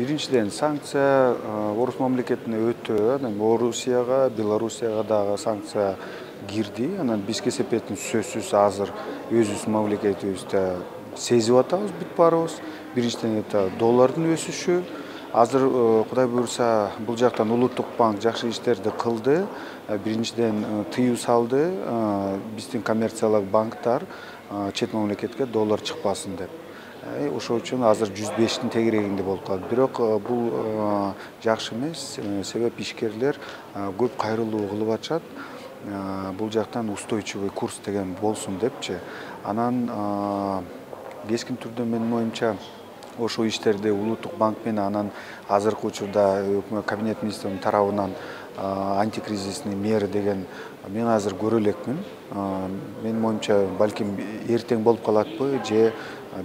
Биринчиден санкция Орус мамлекетине өтө, анан Орусияга, Белоруссияга дагы санкция кирди. Анан биз кесепеттин сөзсүз азыр өзүбүздүн мамлекетибизде сезип атабыз бүт баарыбыз. Биринчиден это доллардын өсүшү. Азыр Кудай буюрса бул жактан Улуттук банк жакшы иштерди кылды. Биринчиден тыюу салды биздин коммерциялык банктар чет мамлекетке доллар чыкпасын деп. Ошол үчүн азыр 105-тин тегерегинде болуп калды. Бирок бул жакшы эмес, себеп ишкерлер көп кайрылуу кылып атышат. Бул жактан устойчивый курс деген болсун депчи. Анан кескин түрдө менин оюмча ошол иштерди Улуттук банк менен анан азыркы учурда кабинет министринин тарабынан антикризисный меры деген мен азыр көрө элекмин. Менин оюмча балким эртең болуп калатпы же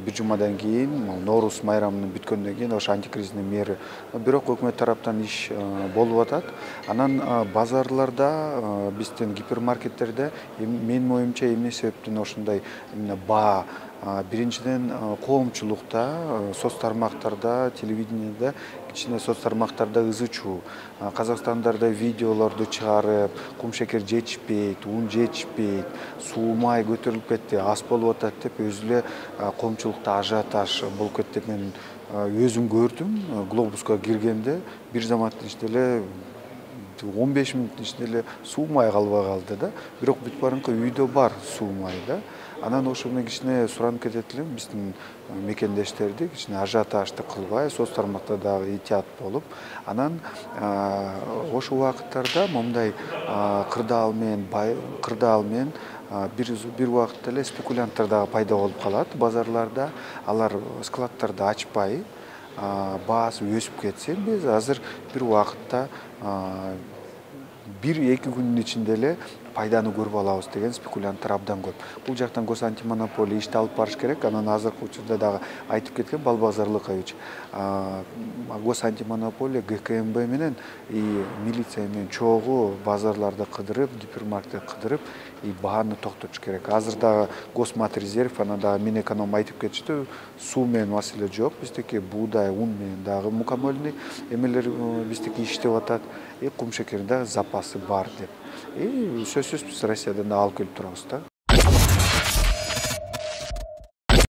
бир жумадан кийин Ноорус майрамынын бүткөндөн кийин ошо антикризисный меры. Бирок өкмөт тараптан иш болуп атат. Анан базарларда, биздин гипермаркеттерде менин оюмча эмне себептен ошондой именно баа биринчиден коомчулукта, соц тармактарда, телевидениеде, кичине соц тармактарда ызы чуу. Казакстандарда видеолорду чыгарып, кумшекер жетишпейт, ун жетишпейт, суу май көтөрүлүп кетти, ас болуп атат деп өзү эле коомчулукта ажиотаж болуп кетти деп мен өзүм көрдүм. Глобуска киргенде бир заматтын ичинде эле 15 мүнөттүн ичинде эле суу май калбай калды да. Бирок бүт баарыңкы үйдө бар суу май да. Анан ошо менен кичине суранып кетет элем биздин мекендештерди кичине ажиотажды кылбай, соц тармакта дагы этият болуп, анан ошол убакыттарда момундай кырдаал менен бир убакытта эле спекулянттар дагы пайда болуп калат базарларда. Алар складдарды ачпай, баасы өсүп кетсе, биз азыр бир убакытта 1-2 күндүн ичинде эле пайданы көрүп алабыз деген спекулянттар абдан көп. Бул жактан госантимонополия ишти алып барыш керек. Анан азыркы учурда дагы айтып кеткен Балбазар Лыкович. Госантимонополия ГКМБ менен милиция менен чогуу базарларды кыдырып, гипермаркетти кыдырып, бааны токтотуш керек. Азыр дагы Госматрезерв, анан дагы Минэконом айтып кетиштүү, суу менен маселе жок. Биздики буудай, ун менен дагы мукомольный эмелер биздики иштеп атат. Кумшекердин дагы запасы бар деп. Сөзсүз биз Россиядан да алып келип турабыз да.